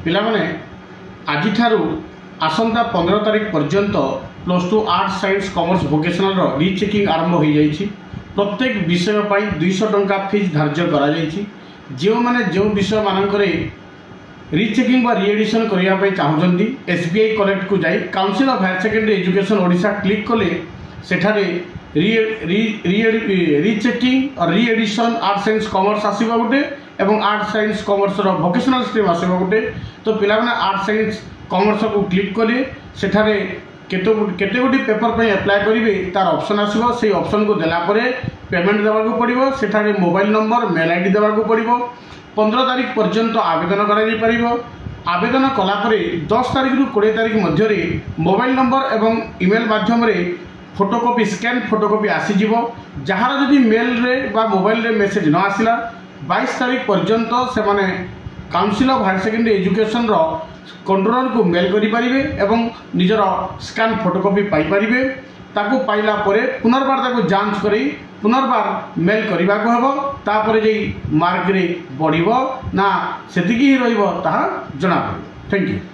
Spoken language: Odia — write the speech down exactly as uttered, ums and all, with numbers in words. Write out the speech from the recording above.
ପିଲାମାନେ ଆଜିଠାରୁ ଆସନ୍ତା ପନ୍ଦର ତାରିଖ ପର୍ଯ୍ୟନ୍ତ plus two arts science commerce ଭୋକେସନାଲର rechecking ଆରମ୍ଭ ହୋଇଯାଇଛି ପ୍ରତ୍ୟେକ ବିଷୟ ପାଇଁ ଦୁଇଶହ ଟଙ୍କା ଫିଜ୍ ଧାର୍ଯ୍ୟ କରାଯାଇଛି ଯେଉଁମାନେ ଯେଉଁ ବିଷୟମାନଙ୍କରେ ରିଚେକିଂ ବା ରିଏଡ଼ିସନ୍ କରିବା ପାଇଁ ଚାହୁଁଛନ୍ତି ଏସ୍ ବି I କନେକ୍ଟକୁ ଯାଇ Council of Higher Secondary Education Odisha click କଲେ ସେଠାରେ rechecking re-edition arts science commerce ଆସିବ ଗୋଟେ ଏବଂ ଆର୍ଟସ୍ ସାଇନ୍ସ କମର୍ସର ଭୋକେସନାଲ୍ ଷ୍ଟ୍ରିମ୍ ଆସିବ ଗୋଟେ ତ ପିଲାମାନେ ଆର୍ଟସ୍ ସାଇନ୍ସ କମର୍ସକୁ କ୍ଲିକ୍ କଲେ ସେଠାରେ କେତେ କେତେ ଗୋଟି ପେପର ପାଇଁ ଆପ୍ଲାଏ କରିବେ ତାର ଅପସନ୍ ଆସିବ ସେଇ ଅପସନ୍କୁ ଦେଲା ପରେ ପେମେଣ୍ଟ ଦେବାକୁ ପଡ଼ିବ ସେଠାରେ mobile number mail I D ଦେବାକୁ ପଡ଼ିବ ପନ୍ଦର ତାରିଖ ପର୍ଯ୍ୟନ୍ତ ଆବେଦନ କରାଯାଇପାରିବ ଆବେଦନ କଲା ପରେ ଦଶ ତାରିଖରୁ କୋଡ଼ିଏ ତାରିଖ ମଧ୍ୟରେ ମୋବାଇଲ ନମ୍ବର ଏବଂ ଇମେଲ୍ ମାଧ୍ୟମରେ ଫଟୋକପି ସ୍କାନ୍ ଫଟୋକପି ଆସିଯିବ ଯାହାର ଯଦି ମେଲ୍ରେ ବା ମୋବାଇଲରେ ମେସେଜ୍ ନ ଆସିଲା ବାଇଶ ତାରିଖ ପର୍ଯ୍ୟନ୍ତ ସେମାନେ କାଉନସିଲ୍ ଅଫ୍ ହାୟର ସେକେଣ୍ଡାରୀ ଏଜୁକେସନ୍ର କଣ୍ଟ୍ରୋଲରକୁ ମେଲ୍ କରିପାରିବେ ଏବଂ ନିଜର ସ୍କାନ୍ ଫଟୋକପି ପାଇପାରିବେ ତାକୁ ପାଇଲା ପରେ ପୁନର୍ବାର ତାକୁ ଯାଞ୍ଚ କରି ପୁନର୍ବାର ମେଲ୍ କରିବାକୁ ହେବ ତାପରେ ଯାଇ ମାର୍କରେ ବଢ଼ିବ ନା ସେତିକି ହିଁ ରହିବ ତାହା ଜଣାପଡ଼ିବ thank you